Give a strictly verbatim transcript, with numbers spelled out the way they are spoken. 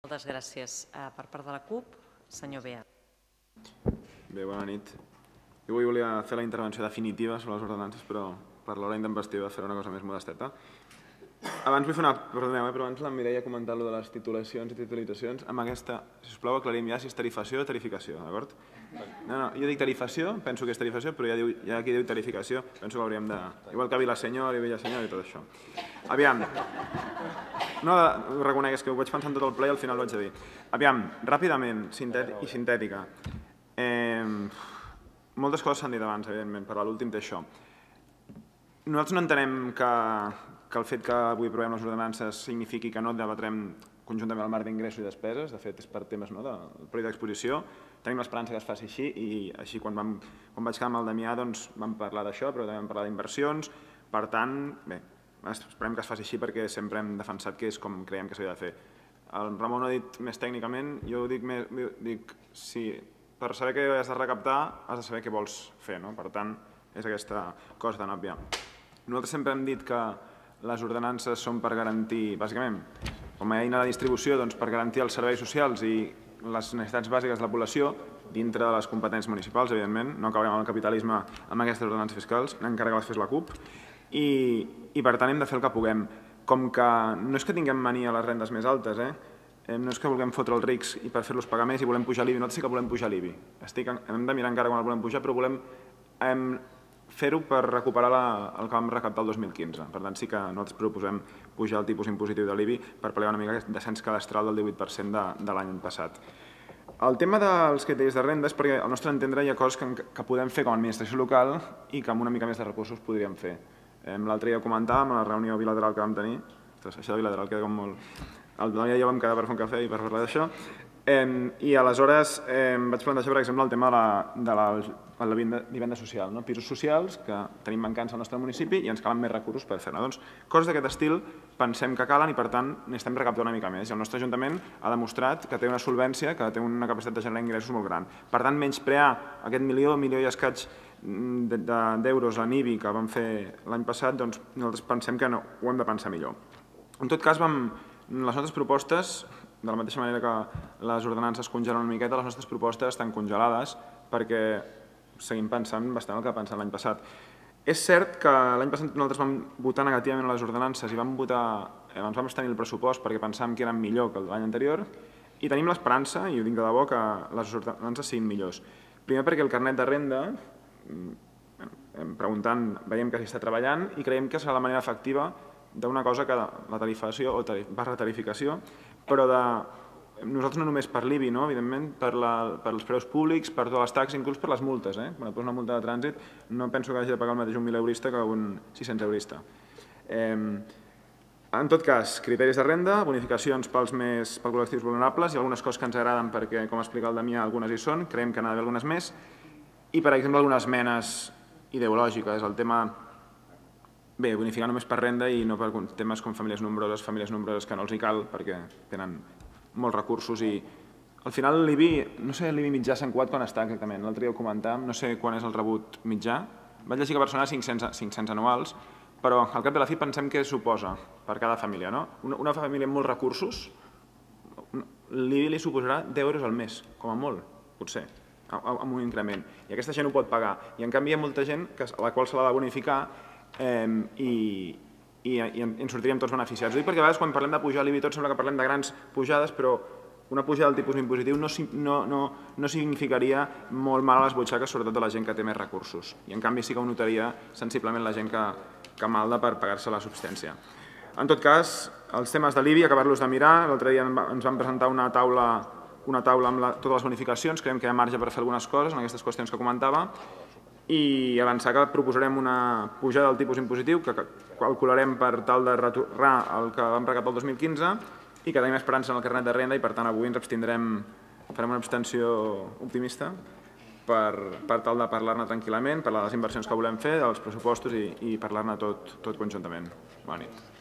Moltes gràcies. Per part de la CUP, senyor Bea. Bé, bona nit. Jo avui volia fer la intervenció definitiva sobre les ordenances, però per l'hora d'investidura fer una cosa més modesteta. Abans vull fer una... Perdoneu, però abans la Mireia ha comentat allò de les titulacions i titulitzacions. Amb aquesta, sisplau, aclarim ja si és tarifació o tarificació, d'acord? No, no, jo dic tarifació, penso que és tarifació, però hi ha qui diu tarificació. Penso que hauríem de... Igual que Vilasenyor i Villasenyor i tot això. Aviam. No, ho reconec, és que ho vaig pensar en tot el ple i al final ho vaig dir. Aviam, ràpidament i sintètica. Moltes coses s'han dit abans, evidentment, però l'últim té això. Nosaltres no entenem que el fet que avui aprovem les ordenances signifiqui que no debatrem conjuntament el marc d'ingressos i despeses. De fet, és per temes del període d'exposició. Tenim l'esperança que es faci així i així quan vaig quedar amb el Damià vam parlar d'això, però també vam parlar d'inversions. Per tant, bé, esperem que es faci així perquè sempre hem defensat que és com creiem que s'havia de fer. El Ramon ho ha dit més tècnicament, jo ho dic més... Per saber què has de recaptar, has de saber què vols fer. Per tant, és aquesta cosa tan òbvia. Nosaltres sempre hem dit que les ordenances són per garantir, bàsicament, com a eina de distribució, per garantir els serveis socials i les necessitats bàsiques de la població dintre de les competències municipals, evidentment. No acabarem amb el capitalisme amb aquestes ordenances fiscals, encara que les fes la CUP. I per tant hem de fer el que puguem. Com que no és que tinguem mania a les rendes més altes, eh? No és que vulguem fotre els rics i per fer-los pagar més i volem pujar l'I B I. Nosaltres sí que volem pujar l'I B I. Hem de mirar encara quan el volem pujar, però volem fer-ho per recuperar el que vam recaptar el dos mil quinze. Per tant, sí que nosaltres proposem pujar el tipus impositiu de l'I B I per pal·liar una mica aquest descens cadastral del divuit per cent de l'any passat. El tema dels criteris de renda és perquè al nostre entendre hi ha coses que podem fer com a administració local i que amb una mica més de recursos podríem fer. L'altre dia ho comentàvem a la reunió bilateral que vam tenir. Això de bilateral queda com molt... El Damià i jo vam quedar per fer un cafè i per parlar d'això. I aleshores vaig plantejar, per exemple, el tema de la vivenda social. Pisos socials que tenim mancants al nostre municipi i ens calen més recursos per fer-ne. Doncs coses d'aquest estil pensem que calen i, per tant, n'estem recaptant una mica més. I el nostre Ajuntament ha demostrat que té una solvència, que té una capacitat de generar ingressos molt gran. Per tant, menysprear aquest milió, milió i escaig d'euros en I B I que vam fer l'any passat, doncs nosaltres pensem que ho hem de pensar millor. En tot cas, les nostres propostes, de la mateixa manera que les ordenances congelen una miqueta, les nostres propostes estan congelades perquè seguim pensant bastant el que pensant l'any passat. És cert que l'any passat nosaltres vam votar negativament les ordenances i vam votar, ens vam abstenir el pressupost perquè pensàvem que eren millor que l'any anterior i tenim l'esperança, i ho dic de debò, que les ordenances siguin millors. Primer perquè el carnet de renda, preguntant, veiem que s'hi està treballant i creiem que serà la manera efectiva d'una cosa que la tarifació o barra tarificació, però nosaltres no només per l'I B I, evidentment, per els preus públics, per totes les taxes, inclús per les multes. Quan et posa una multa de trànsit no penso que hagi de pagar el mateix un mil eurista que un sis-cents eurista. En tot cas, criteris de renda, bonificacions pels col·lectius vulnerables i algunes coses que ens agraden perquè, com ha explicat el Damià, algunes hi són, creiem que n'ha d'haver algunes més, i, per exemple, algunes esmenes ideològiques, el tema... Bé, bonificar només per renda i no per temes com famílies nombroses, famílies nombroses que no els hi cal perquè tenen molts recursos i al final l'I B I, no sé l'I B I mitjà a Sant Cugat quan està exactament, l'altre dia ho comentàvem, no sé quan és el rebut mitjà, vaig llegir que a Barcelona cinc-cents anuals, però al cap de la fi pensem què suposa per cada família. Una família amb molts recursos, l'I B I li suposarà deu euros al mes, com a molt, potser, amb un increment, i aquesta gent ho pot pagar, i en canvi hi ha molta gent a la qual se l'ha de bonificar i en sortiríem tots beneficiats. Ho dic perquè a vegades quan parlem de pujar l'I B I tot sembla que parlem de grans pujades, però una pujada del tipus impositiu no significaria molt mal a les butxaques, sobretot de la gent que té més recursos. I en canvi sí que ho notaria sensiblement la gent que malda per pagar-se la subsistència. En tot cas, els temes de l'I B I, acabar-los de mirar. L'altre dia ens van presentar una taula amb totes les bonificacions, creiem que hi ha marge per fer algunes coses en aquestes qüestions que comentava, i avançar que proposarem una pujada del tipus impositiu que calcularem per tal de retornar el que vam recaptar el dos mil quinze i que tenim esperança en el carnet de renda i per tant avui ens abstindrem, farem una abstenció optimista per tal de parlar-ne tranquil·lament, parlar de les inversions que volem fer, dels pressupostos i parlar-ne tot conjuntament. Bona nit.